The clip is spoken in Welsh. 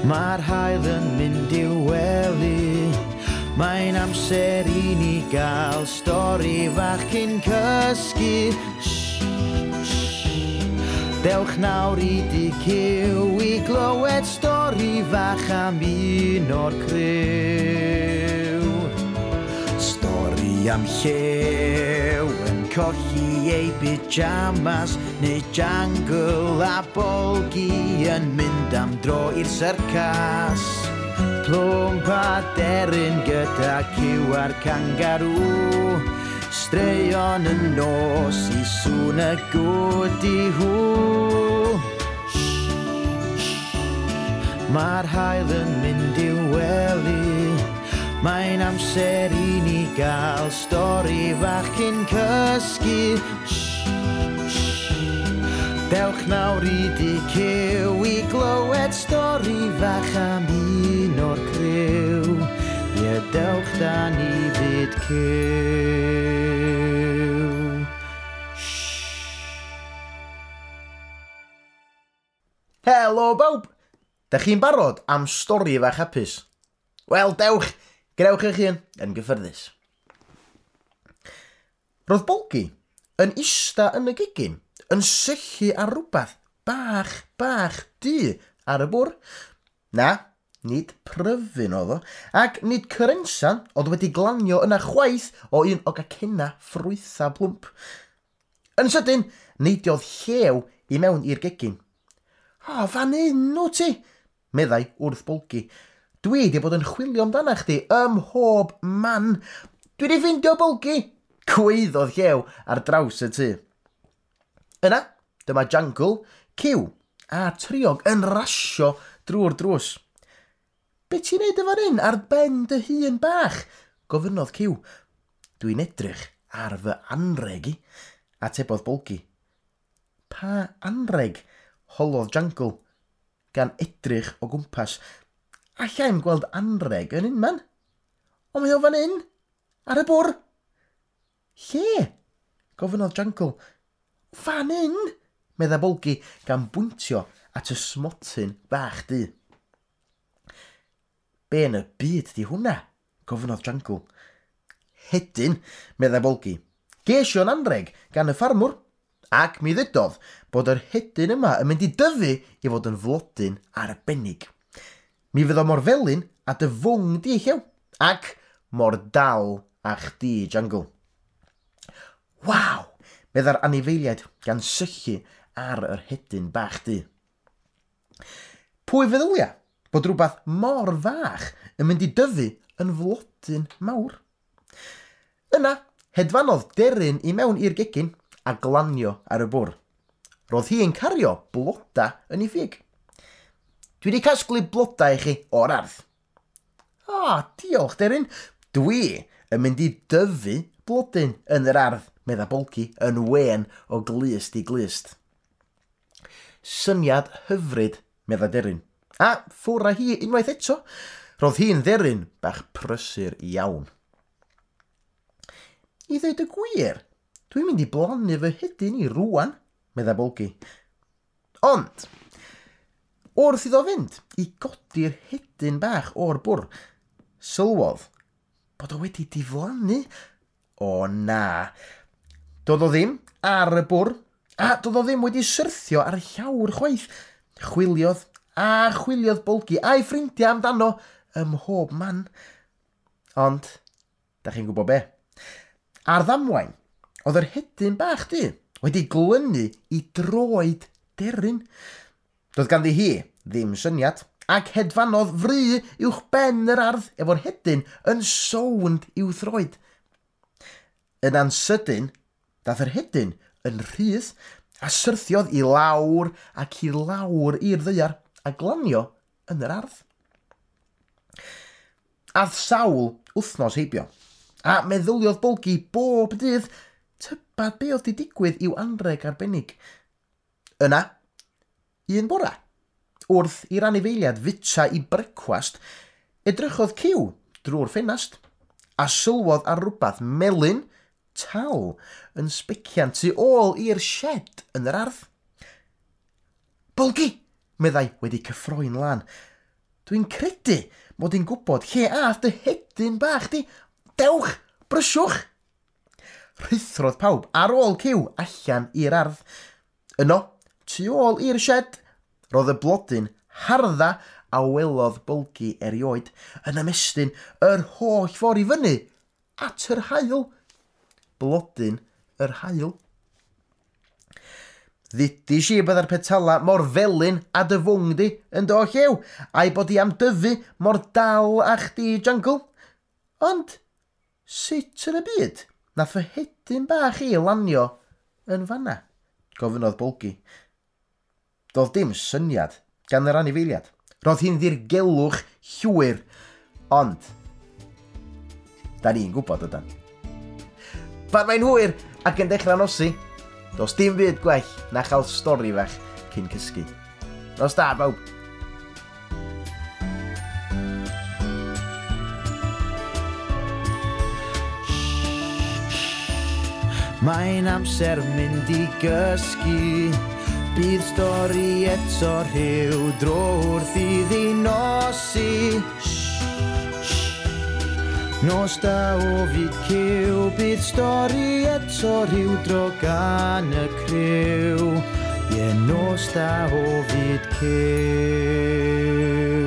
Mae'r haul yn mynd i'w wely. Mae'n amser i ni gael stori fach cyn cysgu. Shh, shh. Dewch nawr i dŷ Cyw i glywed stori fach am un o'r criw. Stori am llew yn colli ei pyjamas neu Jangle a Bolgi yn mynd am dro i'r syrcas. Plwmp a deryn gyda Cyw a'r cangarŵ. Straeon y nos i sŵn y gwdi-hw. Mae'r haul yn mynd i'w wely. Mae'n amser i ni gael stori fach cyn cysgu. Shh, shh. Dewch nawr i dŷ Cyw i glywed stori fach am un o'r criw. Ie, dewch da ni fyd Cyw. Shh. Helo bawb! Da chi'n barod am stori fach hapus? Wel, dewch, gwnewch eich hun yn gyffyrddus. Roedd Bolgi yn ista yn y gegin, yn syllu ar rywbeth bach, bach du ar y bwr. Na, nid pryfyn oedd o, ac nid cyrensan oedd wedi glanio yna chwaith o un o gacenna ffrwytha plwmp. Yn sydyn, neidiodd llew i mewn i'r gegin. O, fan hyn wyt ti, meddai wrth Bolgi. Dwi 'di bod yn chwilio amdana chdi ym mhob man. Dwi 'di ffindio Bolgi! Gwaeddodd llew ar draws y tŷ. Yna, dyma Jangle, Cyw a Triog yn rasio drwy'r drws. Be ti'n neud yn fan hyn ar ben dy hun bach? Gofynnodd Cyw. Dwi'n edrych ar fy anreg i, atebodd Bolgi. Pa anreg? Holodd Jangle, gan edrych o gwmpas. Alla i'm gweld anreg yn unman. Ond mae o fan hyn, ar y bwr. Lle? Gofynnodd Jangle. Fan hyn, medda Bolgi, gan bwyntio at y smotyn bach du. Be yn y byd di hwnna? Gofynnodd Jangle. Hedyn, medda Bolgi. Ges i o'n anreg gan y ffarmwr, ac mi ddudodd bod yr hedyn yma yn mynd i dyfu i fod yn flodyn arbennig. Mi fydd o mor felyn a dy fwng di, Llew, ac mor dal â chdi, Jangle. Waw! Medda'r anifeiliaid gan syllu ar yr hedyn bach du. Pwy feddylia bod rhywbeth mor fach yn mynd i dyfu yn flodyn mawr? Yna, hedfanodd deryn i mewn i'r gegin a glanio ar y bwr. Roedd hi'n cario bloda yn ei ffug. Dwi wedi casglu blodau i chi o'r ardd. O, diolch, deryn. Dwi yn mynd i dyfu blodyn yn yr ardd, medda Bolgi yn wên o glust i glust. Syniad hyfryd, medda deryn. A ffwr â hi unwaith eto. Roedd hi'n dderyn bach prysur iawn. I ddweud y gwir, dwi'n mynd i blannu fy hedyn i rwan, medda Bolgi. Ond, wrth iddo fynd i godi'r hedyn bach o'r bwr, sylwodd bod o wedi diflannu. O na, doedd o ddim ar y bwr, a doedd o ddim wedi syrthio ar y llawr chwaith. Chwiliodd a chwiliodd Bolgi a'i ffrindiau amdano ym mhob man. Ond, da chi'n gwybod be? Ar ddamwain, oedd yr hedyn bach du wedi glynu i droed deryn. Doedd ganddi hi ddim syniad, ac hedfanodd fry uwch ben yr ardd efo'r hedyn yn sownd i'w throed. Yna'n sydyn, dath yr hedyn yn rhydd a syrthiodd i lawr ac i lawr i'r ddaear a glanio yn yr ardd. Ath sawl wythnos heibio, a meddyliodd Bolgi bob dydd tybad be oedd 'di digwydd i'w anreg arbennig. Yna, un bora, wrth i'r anifeiliad fwyta i brecwast, edrychodd Cyw drwy'r ffenast a sylwodd ar rywbeth melyn tal yn sbecian tu ôl i'r shed yn yr ardd. Bolgi, meddai wedi cyffroi'n lân. Dwi'n credu mod i'n gwybod lle ath dy hedyn bach di. Dewch, brysiwch! Rhuthrodd pawb ar ôl Cyw allan i'r ardd. Yno, tu ôl i'r shed, roedd y blodyn hardda a welodd Bolgi erioed yn ymestyn yr holl ffordd i fyny at yr haul. Blodyn yr haul. Ddudis i bydda'r petala mor felyn a dy fwng di yn do Llew, a'i bod i am dyfu mor dal â chdi, Jangl. Ond, sut yn y byd nath fy hedyn bach i lanio yn fanna? Gofynnodd Bolgi. Doedd dim syniad gan yr anifeiliad. Roedd hi'n ddirgelwch llwyr, ond da ni'n gwybod ydan. Pan mae'n hwyr ac yn dechrau nosi, does dim byd gwell na chael stori fach cyn cysgu. Nos da, bawb! Mae'n amser mynd i gysgu. Bydd stori eto rhyw dro wrth iddi nosi. Nos da o fyd Cyw. Bydd stori eto rhyw dro gan y criw. Ie, nos da o fyd Cyw.